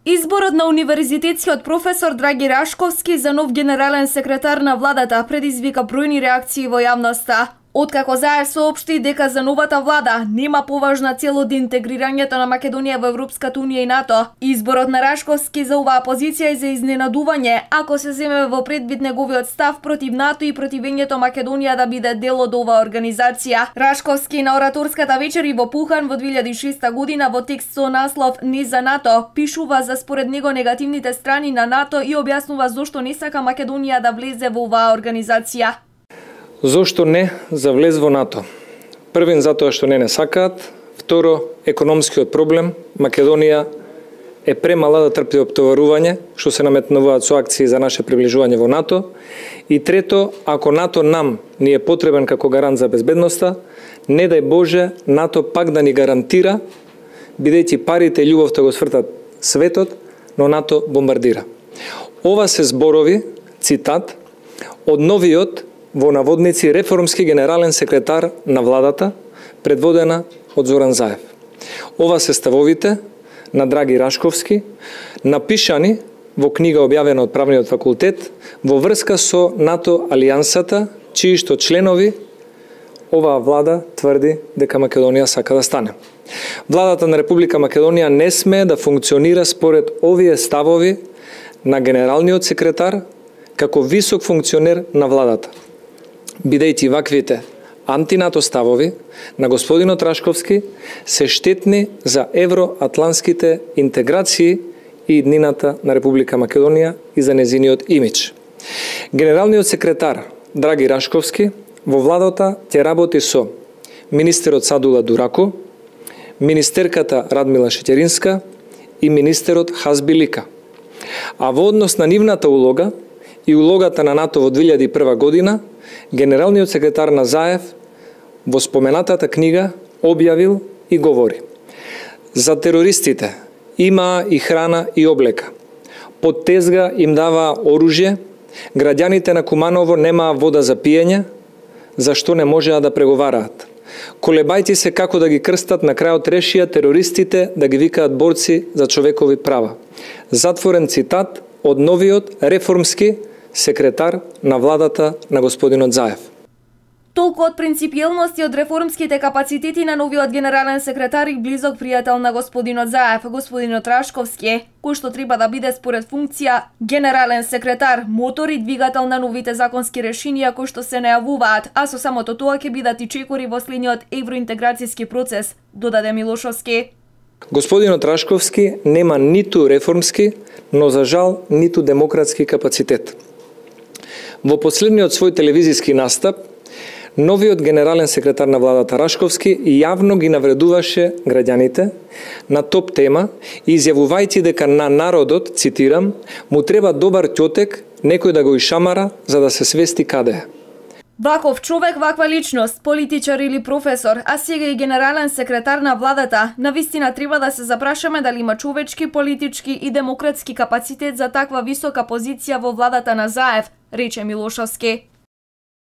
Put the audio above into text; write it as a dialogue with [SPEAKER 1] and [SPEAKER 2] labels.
[SPEAKER 1] Изборот на универзитетскиот професор Драги Рашковски за нов генерален секретар на владата предизвика бројни реакции во јавноста. Откако ЗАЕВ соопшти дека за новата влада нема поважна цел од интегрирањето на Македонија во Европската унија и НАТО, изборот на Рашковски за оваа позиција е за изненадување, ако се земе во предвид неговиот став против НАТО и противењето Македонија да биде дел од оваа организација. Рашковски на ораторската вечер во Пухан во 2006 година во текст со наслов "Не за НАТО" пишува за според него негативните страни на НАТО и објаснува зошто не сака Македонија да влезе во оваа организација.
[SPEAKER 2] Зошто не за влез во НАТО? Првин затоа што не сакаат, второ економскиот проблем, Македонија е премала да трпи оптоварување што се наметнуваат со акции за наше приближување во НАТО, и трето, ако НАТО нам ни е потребен како гарант за безбедноста, не дај Боже НАТО пак да ни гарантира, бидејќи парите и љубовта го свртат светот, но НАТО бомбардира. Ова се зборови, цитат, од новиот во наводници реформски генерален секретар на владата, предводена од Зоран Заев. Ова се ставовите на Драги Рашковски, напишани во книга објавена од Правниот факултет во врска со НАТО алијансата, чии што членови оваа влада тврди дека Македонија сака да стане. Владата на Република Македонија не смее да функционира според овие ставови на генералниот секретар како висок функционер на владата, бидејќи ваквите антинато ставови на господинот Рашковски се штетни за евроатлантските интеграции и иднината на Република Македонија и за незиниот имидж. Генералниот секретар Драги Рашковски во владата ќе работи со министерот Садула Дураку, министерката Радмила Шеќеринска и министерот Хазбилика. А во однос на нивната улога и улогата на НАТО во 2001 година, генералниот секретар на ЗАЕВ во споменатата книга објавил и говори: за терористите имаа и храна и облека, под тезга им даваа оружје, граѓаните на Куманово немаа вода за пиење, зашто не можеа да преговараат. Колебајте се како да ги крстат, на крајот решија терористите да ги викаат борци за човекови права. Затворен цитат од новиот реформски секретар на владата на господинот Заев.
[SPEAKER 1] Толку од принципиелност и од реформските капацитети на новиот генерален секретар и близок пријател на господинот Заев, господинот Рашковски, кој што треба да биде според функција генерален секретар, мотор и двигател на новите законски решенија кои што се најавуваат, а со самото тоа ќе бидат и чекори во следниот евроинтеграцијски процес, додаде Милошовски.
[SPEAKER 2] Господинот Рашковски нема ниту реформски, но за жал ниту демократски капацитет. Во последниот свој телевизиски настап, новиот генерален секретар на владата Рашковски јавно ги навредуваше граѓаните на топ тема, изјавувајќи дека на народот, цитирам, му треба добар ќотек, некој да го ишамара за да се свести каде е.
[SPEAKER 1] Ваков човек, ваква личност, политичар или професор, а сега и генерален секретар на владата, навистина треба да се запрашаме дали има човечки, политички и демократски капацитет за таква висока позиција во владата на ЗАЕВ, рече Милошовски.